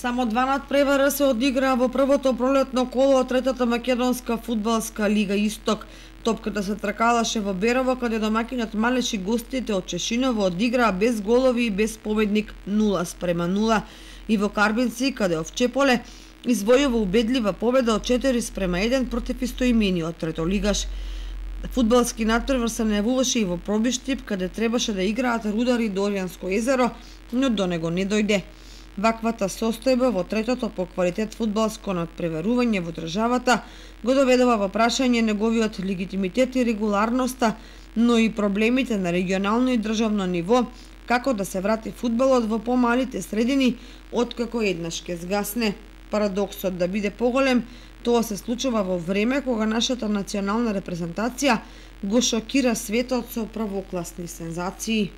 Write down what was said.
Само два надпревара се одиграа во првото пролетно коло од третата македонска фудбалска лига Исток. Топката се тркалаше во Берово, каде домаќинот Малеш и гостите од Чешиново одиграа без голови и без победник 0:0. И во Карбинци, каде Овчеполе извојува убедлива победа од 4:1 против истоимениот третолигаш. Фудбалски надпревар се најавуваше и во Пробиштип, каде требаше да играат Рудар и Доријанско езеро, но до него не дојде. Ваквата состојба во третото по квалитет фудбалско надпреварување во државата го доведува во прашање неговиот легитимитет и регуларноста, но и проблемите на регионално и државно ниво, како да се врати фудбалот во помалите средини откако еднаш ке згасне. Парадоксот да биде поголем, тоа се случува во време кога нашата национална репрезентација го шокира светот со првокласни сензации.